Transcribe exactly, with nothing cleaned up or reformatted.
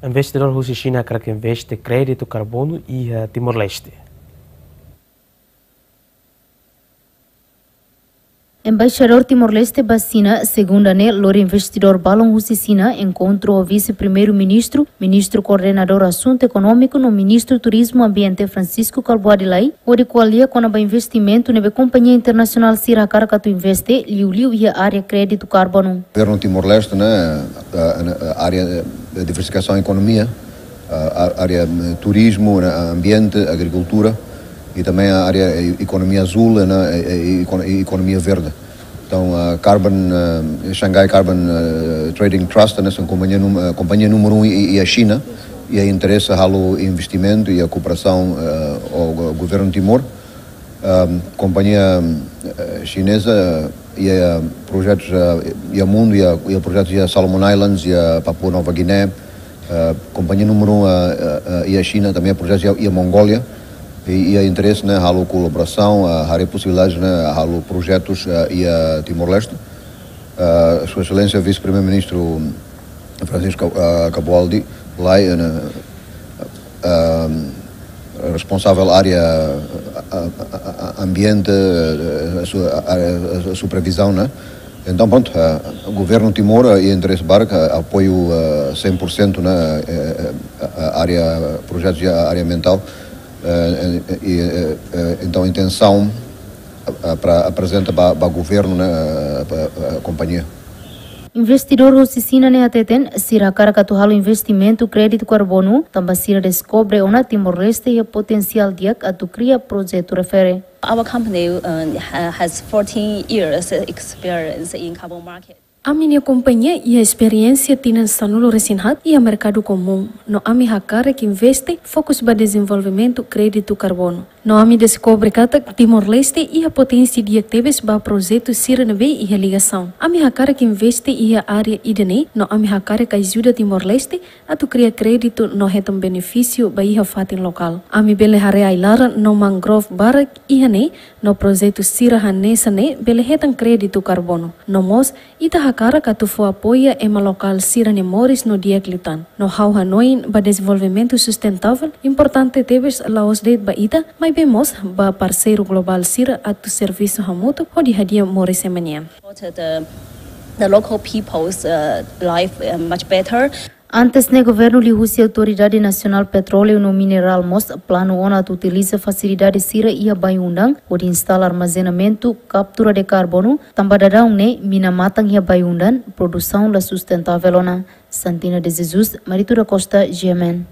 Investidór husi Xina hakarak investe kréditu karbonu iha Timor-Leste. Embaixadór Timor-Leste ba Xina, segunda ne'e, lori investidór balun husi Xina, enkontru ho Vise-Primeiru-Ministru, Ministru Koordenadór Asuntu Ekonómiku no Ministru Turizmu Ambiente Francisco Kalbuadi Lay, hodi ko'alia kona-ba investimentu ne'ebé kompañia internasionál sira hakarak atu investe, liuliu iha área kréditu karbonu. Governu Timor-Leste, ne'e, eh, eh, área, eh, diversifikasaun ekonomia, eh, á-, área, eh, turizmu, ne'e, ambiente, agrikultura, i também a área, eh, ekonomia azul, ne'e, eh, eh, ekon-, eh, ekonomia verde. Entaun, a Carbon, eh, Shanghai Carbon, eh, Trading Trust, ne'e, são kompañia num-, eh, kompañia númeru um iha, iha Xina, iha interese halo investimentu, iha kooperasaun, eh, ho go-, governu Timor. Ahm, kompañia, eh, xineza, iha projetus, eh, iha mundu, iha, iha projetus iha Solomon Islands, iha Papua Nova Guiné, eh, kompañia númeru um, eh, eh, eh, iha Xina, também projetus iha, iha Mongólia, i, iha interese, ne'e, halo kolaborasaun, eh, haree posibilidades, ne'e, halo projetus, eh, iha Timor-Leste. Eh, Sua Exelénsia Vise-Primeiru-Ministru Francisco, eh, Kalbuadi Lay, eh, ne'e, eh, responsavel área, eh, eh, eh, ambiente, eh, su-, eh, eh, supervizaun, ne'e? Entaun, prontu, eh, governu Timor, eh, iha interese barak, eh, apoiu, eh, cem por cento, ne'e, eh, eh, eh, área, projetus iha área ambientál, eh, eh, eh, eh, eh, entaun, intensaun, eh, eh, para aprezenta ba, ba governu, ne'e, eh, ba, eh, kompañia. Investidór husi Xina ne'e hateten, sira hakarak atu halo investimentu kréditu karbonu, tanba sira deskobre ona Timor-Leste iha potensiál di'ak atu kria projetu refere. Our company, uh, ha-, has fourteen years experience in carbon market. Ami-nia kompañia iha esperiénsia tinan sanulu-resin-haat iha merkadu komún, no ami hakarak investe fokus ba dezenvolvimentu kréditu karbonu. No ami deskobre katak Timor-Leste iha potensiál di'ak tebes ba projetu sira ne'ebé iha ligasaun. Ami hakarak investe iha área ida-ne'e, no ami hakarak ajuda Timor-Leste atu kria kréditu no hetan benefísiu ba iha fatin lokál. Ami bele haree ai-laran no mangrove barak iha ne'e, no projetu sira hanesan ne'e bele hetan kréditu karbonu. No mós, ita hakarak atu fó apoia ema lokál sira-nia moris no di'ak liután. No ha'u hanoin ba dezenvolvimentu sustentável importante tebes la'ós de'it ba ita, maibé mós ba parseiru globál sira atu servisu hamutuk hodi hadi'a moris ema nian. The, the local people's, uh, life, uh, much better. Antes ne'e, governu liuhusi Autoridade Nasionál Petróleu no Minerál mós planu ona atu utiliza fasilidade sira iha Bayu-Undan hodi instala armazenamentu, kaptura de karbonu, tanba daudaun ne'e mina matan iha Bayu-Undan, produsaun la sustentável ona. Santina de Jesus, Marito da Costa, G M N.